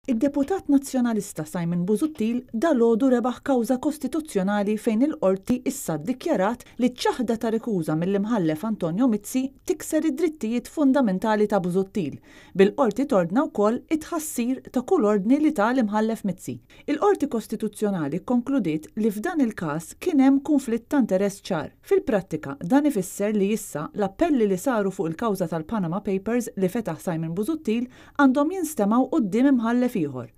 Id-deputat Nazzjonalista Simon Busuttil dalgħodu rebaħ kawża kostituzzjonali fejn il-Qorti issa ddikjarat li ċ-ċaħda ta' rikuża mill-Imħallef Antonio Mizzi tikser id-drittijiet fundamentali ta' Busuttil, bil-Qorti tordna wkoll it-tħassir ta' kull ordni li ta l-Imħallef Mizzi. Il-Qorti Kostituzzjonali kkonkludiet li f'dan il-każ kien hemm kunflitt ta' interess ċar. Fil-prattika, dan ifisser li issa l-appelli li saru fuq il-kawża tal-Panama Papers li fetaħ Simon Busuttil għandhom jinstemgħu quddiem imħallef ieħor.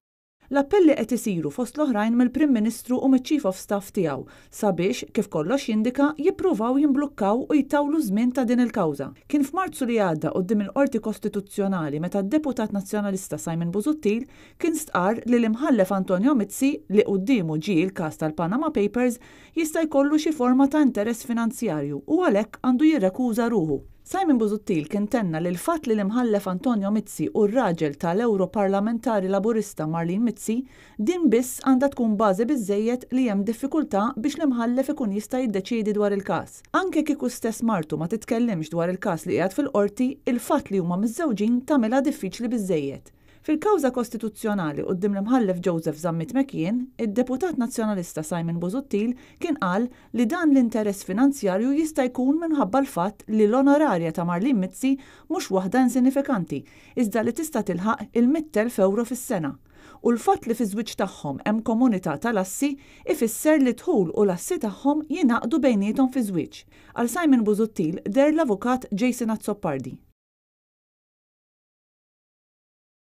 L-appelli qed isiru fost l-oħrajn mill-Prim Ministru u miċ-Chief of Staff tiegħu sabiex, kif kollox jindika, jippruvaw jimblukkaw u jtawlu ż-żmien ta' din il-kawża. Kien f'Marzu li għadda quddiem il-Qorti Kostituzzjonali meta d-Deputat Nazzjonalista Simon Busuttil kien stqarr li l-Imħallef Antonio Mizzi, li quddiemu ġie l-każ tal-Panama Papers, jista' jkollu xi forma ta' interess finanzjarju u għalhekk għandu jirrekuża ruħu. Simon Busuttil kien tenna li l-fatt li l-Imħallef Antonio Mizzi hu r-raġel ta' l-Ewroparlamentari Laburista Marlene Mizzi, din biss għandha tkun bażi biżżejjed li hemm diffikultà biex l-Imħallef ikun jista' jiddeċiedi dwar il-każ. Anke kieku stess martu ma titkellimx dwar il-każ li qiegħed fil-Qorti, il-fatt li huma miżżewġin tagħmilha diffiċli biżżejjed. Fil-kawża kostituzzjonali quddiem l-Imħallef Joseph Zammit McKeon, id-Deputat Nazzjonalista Simon Busuttil kien qal li dan l-interess finanzjarju jista' jkun minħabba l-fatt li l-onorarja ta' Marlene Mizzi mhux waħda insinifikanti iżda li tista' tilħaq il-100,000 ewro fis-sena u l-fatt li fiż-żwieġ tagħhom hemm komunità tal-assi ifisser li d-dħul u l-assi tagħhom jingħaqdu bejniethom fiż-żwieġ. Għal Simon Busuttil deher l-Avukat Jason Azzopardi.